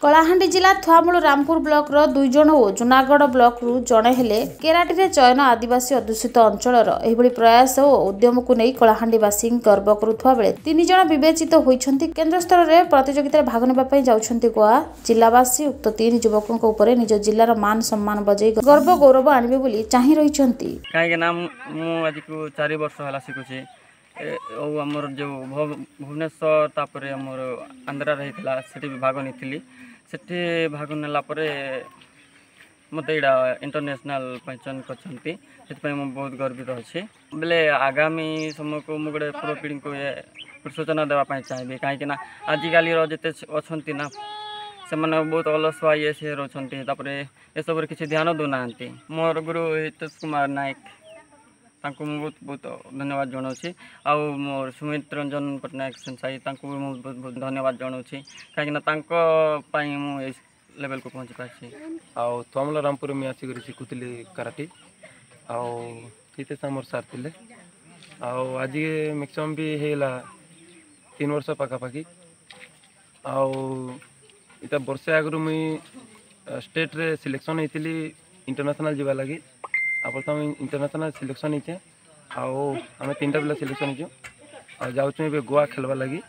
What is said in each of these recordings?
କଳାହାଣ୍ଡି ଜିଲ୍ଲା ଥୁଆମୂଳ ରାମପୁର ବ୍ଲକର 2 ଜଣ ଓ ଜୁନାଗଡ଼ ବ୍ଲକରୁ ଜଣେ ହେଲେ କେରାଟିରେ ଚୟନ। ଆଦିବାସୀ ଅଧ୍ୟୁଷିତ ଅଞ୍ଚଳର ଏହିଭଳି ପ୍ରୟାସ ଓ ଉଦ୍ୟମକୁ ନେଇ କଳାହାଣ୍ଡିବାସୀ ଗର୍ବ କରୁଥିବା ବେଳେ 3 ଜଣ ବିବେଚିତ ହୋଇଛନ୍ତି। କେନ୍ଦ୍ର ସ୍ତରରେ ପ୍ରତିଯୋଗିତାରେ ଭାଗ ନେବା ପାଇଁ ଯାଉଛନ୍ତି ଗୋଆ। ଜିଲ୍ଲାବାସୀ ଉକ୍ତ 3 ଯୁବକଙ୍କ ଉପରେ ନିଜ ଜିଲ୍ଲାର ମାନ ସମ୍ମାନ ବଜେଇ ଗର୍ବ ଗୌରବ ଆଣିବେ ବୋଲି ଚାହିଁ ରହିଛନ୍ତି। କାହିଁକି ନା ମୁଁ ଆଜିକୁ 4 ବର୍ଷ ହେଲା ଶିଖୁଛି। ଆଉ ଆମର ଯେଉଁ ଭୁବନେଶ୍ୱର, ତାପରେ ଆମର ଆନ୍ଧ୍ରାରେ ହେଇଥିଲା, ସେଠି ବି ଭାଗ ନେଇଥିଲି। ସେଠି ଭାଗ ନେଲା ପରେ ମୋତେ ଏଇଟା ଇଣ୍ଟରନ୍ୟାସନାଲ୍ ପାଇଁ ଚୟନ କରିଛନ୍ତି, ସେଥିପାଇଁ ମୁଁ ବହୁତ ଗର୍ବିତ ଅଛି। ବେଲେ ଆଗାମୀ ସମୟକୁ ମୁଁ ଗୋଟେ ପୂର୍ବପିଢ଼ିଙ୍କୁ ସୂଚନା ଦେବା ପାଇଁ ଚାହିଁବି, କାହିଁକିନା ଆଜିକାଲିର ଯେତେ ଅଛନ୍ତି ନା, ସେମାନେ ବହୁତ ଅଲସୁଆ ଇଏ ସିଏ ରହୁଛନ୍ତି, ତାପରେ ଏସବୁରେ କିଛି ଧ୍ୟାନ ଦେଉନାହାନ୍ତି। ମୋର ଗୁରୁ ହିତେଶ କୁମାର ନାୟକ, ତାଙ୍କୁ ମୁଁ ବହୁତ ବହୁତ ଧନ୍ୟବାଦ ଜଣାଉଛି। ଆଉ ମୋର ସୁମିତ ରଞ୍ଜନ ପଟ୍ଟନାୟକ ସେନ୍ସାଇ, ତାଙ୍କୁ ବି ମୁଁ ବହୁତ ବହୁତ ଧନ୍ୟବାଦ ଜଣାଉଛି, କାହିଁକିନା ତାଙ୍କ ପାଇଁ ମୁଁ ଏଇ ଲେଭେଲକୁ ପହଞ୍ଚି ପାରିଛି। ଆଉ ଥୁଆମୂଳ ରାମପୁରରେ ମୁଇଁ ଆସିକରି ଶିଖୁଥିଲି କରାଟି, ଆଉ ହିତେଶ ଆମର ସାର୍ ଥିଲେ। ଆଉ ଆଜି ମ୍ୟାକ୍ସିମମ୍ ବି ହେଇଗଲା 3 ବର୍ଷ ପାଖାପାଖି। ଆଉ ଇଟା ବର୍ଷେ ଆଗରୁ ମୁଇଁ ଷ୍ଟେଟ୍ରେ ସିଲେକ୍ସନ୍ ହେଇଥିଲି ଇଣ୍ଟରନ୍ୟାସନାଲ୍ ଯିବା ଲାଗି। ଆଉ ପ୍ରଥମେ ଇଣ୍ଟରନ୍ୟାସନାଲ୍ ସିଲେକ୍ସନ୍ ହେଇଛେ, ଆଉ ଆମେ 3ଟା ପିଲା ସିଲେକ୍ସନ୍ ହେଇଛୁ, ଆଉ ଯାଉଛୁ ଏବେ ଗୋଆ ଖେଲ୍ବା ଲାଗି।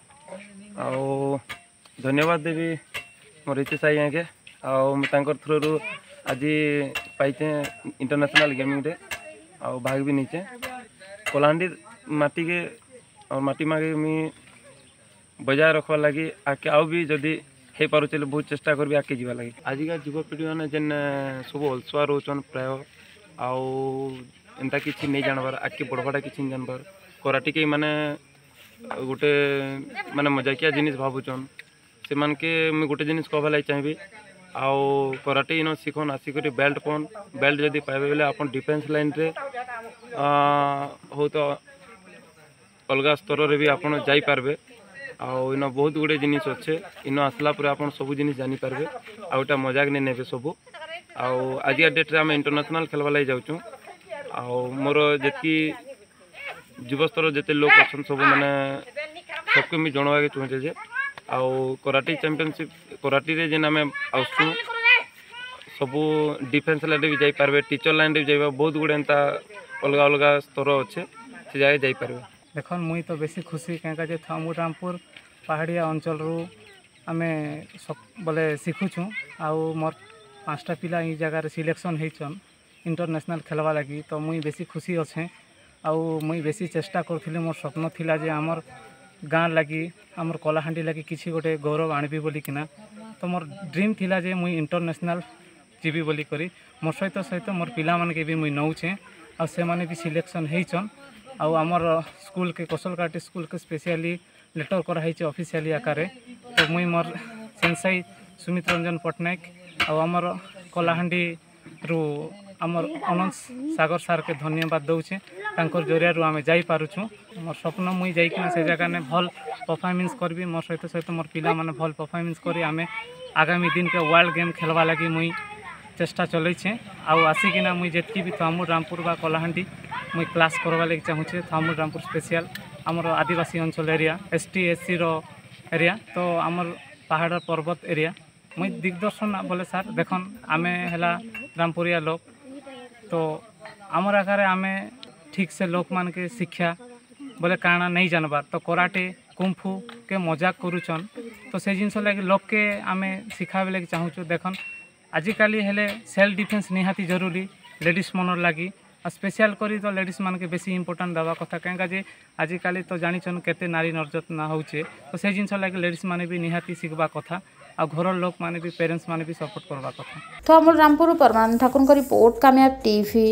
ଆଉ ଧନ୍ୟବାଦ ଦେବି ମୋର ହିତେଶ ଆଜ୍ଞାକେ, ଆଉ ମୁଁ ତାଙ୍କର ଥ୍ରୋରୁ ଆଜି ପାଇଛେ ଇଣ୍ଟରନ୍ୟାସନାଲ୍ ଗେମିଂରେ, ଆଉ ଭାଗ ବି ନେଇଛେ। କଳାହାଣ୍ଡି ମାଟିକେ ଆଉ ମାଟି ମାକେ ମୁଇଁ ବଜାୟ ରଖବାର୍ ଲାଗି ଆଗ୍କେ ଆଉ ବି ଯଦି ହେଇପାରୁଛେ ହେଲେ ବହୁତ ଚେଷ୍ଟା କରିବି ଆଗ୍କେ ଯିବା ଲାଗି। ଆଜିକା ଯୁବପିଢ଼ି ମାନେ ଯେନ୍ ସବୁ ଅଲସୁଆ ରହୁଛନ୍ ପ୍ରାୟ, ଆଉ ଏନ୍ତା କିଛି ନେଇ ଜାଣବାର୍, ଆଗ୍କେ ବଢ଼ବାଟା କିଛି ନେଇ ଜାଣବାର୍, କରାଟିକେ ମାନେ ଗୋଟେ ମାନେ ମଜାକିଆ ଜିନିଷ୍ ଭାବୁଛନ୍, ସେମାନକେ ମୁଇଁ ଗୋଟେ ଜିନିଷ୍ କହବାର୍ ଲାଗି ଚାହିଁବି। ଆଉ କରାଟେ ଇନ ଶିଖନ୍, ଆସିକରି ବେଲ୍ଟ ପାଉନ୍। ବେଲ୍ଟ ଯଦି ପାଇବେ ବେଲେ ଆପଣ ଡିଫେନ୍ସ ଲାଇନ୍ରେ ହଉ ତ ଅଲଗା ସ୍ତରରେ ବି ଆପଣ ଯାଇପାରବେ। ଆଉ ଇନ ବହୁତ ଗୁଡ଼ିଏ ଜିନିଷ୍ ଅଛେ, ଇନ ଆସିଲା ପରେ ଆପଣ ସବୁ ଜିନିଷ୍ ଜାଣିପାରିବେ, ଆଉ ଏଇଟା ମଜାକ ନେଇ ନେବେ ସବୁ। ଆଉ ଆଜିକା ଡେଟ୍ରେ ଆମେ ଇଣ୍ଟରନ୍ୟାସନାଲ୍ ଖେଲ୍ବାର୍ ଲାଗି ଯାଉଛୁଁ। ଆଉ ମୋର ଯେତ୍କି ଯୁବସ୍ତର ଯେତେ ଲୋକ୍ ଅଛନ୍ ସବୁ, ମାନେ ସବକେ ମୁଇଁ ଜଣାବାକେ ଚାହୁଁଛେ ଯେ ଆଉ କରାଟି ଚାମ୍ପିଅନସିପ୍, କରାଟିରେ ଯେନ୍ ଆମେ ଆସୁଛୁଁ, ସବୁ ଡିଫେନ୍ସ ଲାଇନ୍ରେ ବି ଯାଇପାରିବେ, ଟିଚର୍ ଲାଇନ୍ରେ ବି ଯାଇପାରିବେ, ବହୁତ ଗୁଡ଼େ ଏନ୍ତା ଅଲଗା ଅଲଗା ସ୍ତର ଅଛେ, ସେ ଜାଗାରେ ଯାଇପାରିବେ। ଦେଖନ୍, ମୁଇଁ ତ ବେଶୀ ଖୁସି, କାହିଁକା ଯେ ଥୁଆମୂଳ ରାମପୁର ପାହାଡ଼ିଆ ଅଞ୍ଚଳରୁ ଆମେ ବୋଲେ ଶିଖୁଛୁଁ, ଆଉ ମୋର୍ 5ଟା ପିଲା ଏଇ ଜାଗାରେ ସିଲେକ୍ସନ୍ ହେଇଛନ୍ ଇଣ୍ଟରନ୍ୟାସନାଲ୍ ଖେଲ୍ବା ଲାଗି, ତ ମୁଇଁ ବେଶୀ ଖୁସି ଅଛେଁ। ଆଉ ମୁଇଁ ବେଶୀ ଚେଷ୍ଟା କରୁଥିଲି, ମୋର୍ ସ୍ୱପ୍ନ ଥିଲା ଯେ ଆମର୍ ଗାଁ ଲାଗି, ଆମର୍ କଳାହାଣ୍ଡି ଲାଗି କିଛି ଗୋଟେ ଗୌରବ ଆଣିବି ବୋଲିକିନା। ତ ମୋର୍ ଡ୍ରିମ୍ ଥିଲା ଯେ ମୁଇଁ ଇଣ୍ଟରନ୍ୟାସନାଲ୍ ଯିବି ବୋଲିକରି। ମୋର୍ ସହିତ ସହିତ ମୋର୍ ପିଲାମାନକେ ବି ମୁଇଁ ନଉଛେଁ, ଆଉ ସେମାନେ ବି ସିଲେକ୍ସନ୍ ହେଇଛନ୍। ଆଉ ଆମର ସ୍କୁଲ୍କେ, କୌଶଲ କରାଟେ ସ୍କୁଲ୍କେ ସ୍ପେସିଆଲି ଲେଟର୍ କରାହେଇছে ଅଫିସିଆଲି ଆକାରରେ। ତ ମୁଇଁ ମୋର୍ ସେନ୍ସାଇ ସୁମିତ ରଞ୍ଜନ ପଟ୍ଟନାୟକ ଆଉ ଆମର କଳାହାଣ୍ଡିରୁ ଆମର ଅନନ୍ତ ସାଗର ସାର୍କେ ଧନ୍ୟବାଦ ଦଉଛେ, ତାଙ୍କର ଜରିଆରୁ ଆମେ ଯାଇପାରୁଛୁଁ। ମୋର୍ ସ୍ୱପ୍ନ, ମୁଇଁ ଯାଇକିନା ସେ ଜାଗାନେ ଭଲ୍ ପରଫର୍ମାନ୍ସ କରିବି, ମୋର୍ ସହିତ ସହିତ ମୋର୍ ପିଲାମାନେ ଭଲ୍ ପରଫର୍ମାନ୍ସ କରି ଆମେ ଆଗାମୀ ଦିନକେ ୱାର୍ଲଡ ଗେମ୍ ଖେଲ୍ବା ଲାଗି ମୁଇଁ ଚେଷ୍ଟା ଚଲେଇଛେଁ। ଆଉ ଆସିକିନା ମୁଇଁ ଯେତ୍କି ବି ଥୁଆମୂଳ ରାମପୁର ବା କଳାହାଣ୍ଡି ମୁଇଁ କ୍ଲାସ୍ କର୍ବା ଲାଗି ଚାହୁଁଛେ। ଥୁଆମୂଳ ରାମପୁର ସ୍ପେସିଆଲ୍ ଆମର ଆଦିବାସୀ ଅଞ୍ଚଳ ଏରିଆ, ST SCର ଏରିଆ, ତ ଆମର ପାହାଡ଼ ପର୍ବତ ଏରିଆ। ମୁଇଁ ଦିଗ୍ଦର୍ଶନ ବୋଲେ ସାର୍ ଦେଖନ୍, ଆମେ ହେଲା ରାମପୁରିଆ ଲୋକ୍, ତ ଆମର୍ ଆଗାରେ ଆମେ ଠିକ୍ ସେ ଲୋକମାନକେ ଶିକ୍ଷା ବୋଲେ କାଣା ନେଇ ଜାନବାର୍, ତ କରାଟେ କୁମ୍ଫୁ କେ ମଜାକ କରୁଛନ୍। ତ ସେ ଜିନିଷ ଲାଗି ଲୋକକେ ଆମେ ଶିଖାବେ ଲାଗି ଚାହୁଁଛୁ। ଦେଖନ୍, ଆଜିକାଲି ହେଲେ ସେଲ୍ଫ ଡିଫେନ୍ସ ନିହାତି ଜରୁରୀ ଲେଡ଼ିସ୍ ମନର୍ ଲାଗି, ଆଉ ସ୍ପେସିଆଲ୍ କରି ତ ଲେଡ଼ିସ୍ ମାନକେ ବେଶୀ ଇମ୍ପୋର୍ଟାଣ୍ଟ ଦେବା କଥା, କାହିଁକା ଯେ ଆଜିକାଲି ତ ଜାଣିଛନ୍ କେତେ ନାରୀ ନିର୍ଯାତନା ହଉଛେ। ତ ସେ ଜିନିଷ ଲାଗି ଲେଡ଼ିସ୍ ମାନେ ବି ନିହାତି ଶିଖବା କଥା, ଆଉ ଘରର ଲୋକମାନେ ବି, ପ୍ୟାରେଣ୍ଟସ୍ ମାନେ ବି ସପୋର୍ଟ କରବା କଥା। ଥୁଆମୂଳ ରାମପୁର ପରମାନନ୍ଦ ଠାକୁରଙ୍କ ରିପୋର୍ଟ, କାମୟାବ ଟିଭି।